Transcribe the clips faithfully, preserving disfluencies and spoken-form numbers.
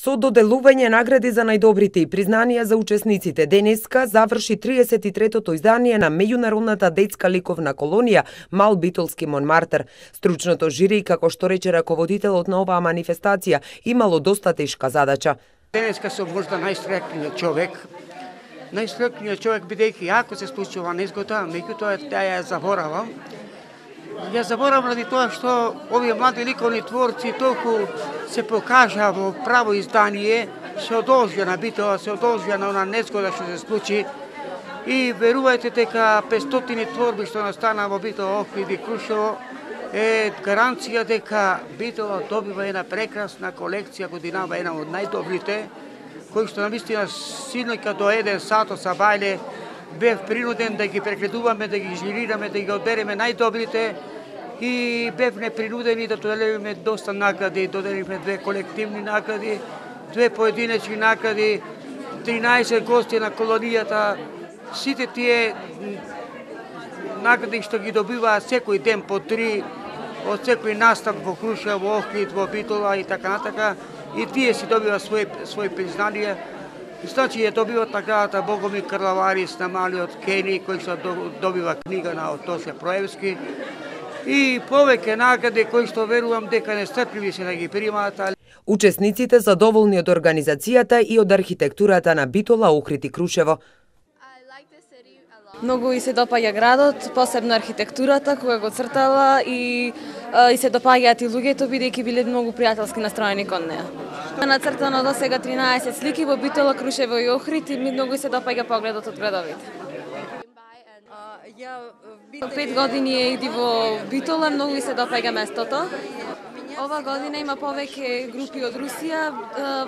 Со доделување награди за најдобрите и признанија за учесниците, денеска заврши триесет и третото издание на меѓународната детска ликовна колонија Мал Битолски Монмартер. Стручното жири, како што рече раководителот на оваа манифестација, имало доста тешка задача. Денеска сум можда најстрекниот човек. Најстрекниот човек бидејќи ако се случува незгода, меѓутоа ја заборавам. Ја заборавам ради тоа што овие млади ликовни творци толку се покажа во право издание, се одолжија на Битола, се одолжија на она незгода што се случи и верувајте дека петстотини творби што настана во Битола, Охрид и Крушево е гаранција дека Битола добива една прекрасна колекција годинава, една од најдобрите, кој што навистина синоќа до еден сат са бајле бев принуден да ги прегледуваме, да ги жирираме, да ги одбереме најдобрите и бев непринудени да доделиме доста награди, доделивме две колективни награди, две поединечни награди, тринаесет гости на колонијата. Сите тие награди што ги добиваат секој ден по три, од секој настап во Крушево, во Охрид, во Битола и така натака, и тие си добиваат свој свој признание. Значи ја добиват наградата Богомир Карлаварис на малиот Кени, кој што добива книга на Тоше Проевски, и повеќе награди кои што верувам дека нестрпливи се да ги примаат. Учесниците задоволни од организацијата и од архитектурата на Битола, Охрид и Крушево. Многу и се допаѓа градот, посебно архитектурата која го цртала и, и се допаѓаат и луѓето бидејќи биле многу пријателски настроени кон неа. Нацртано до сега тринаесет слики во Битола, Крушево и Охрид и многу се допаѓа погледот од градовите. Пет години е иди во Битола, многу се допаѓа местото. Ова година има повеќе групи од Русија.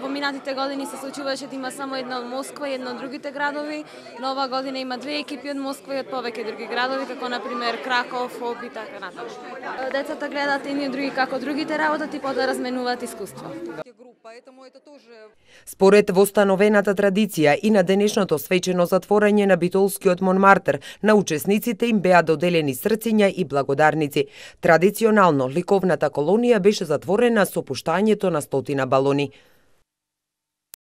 Во минатите години се случуваше да има само една од Москва и една од другите градови, но ова година има две екипи од Москва и од повеќе други градови, како например Краков, Об и така натаму. Децата гледаат едни и други како другите работат и потоа разменуваат искуство. Според востановената традиција и на денешното свечено затворање на Битолскиот Монмартер, на учесниците им беа доделени срциња и благодарници. Традиционално ликовната колонија беше затворена со пуштањето на стотина балони.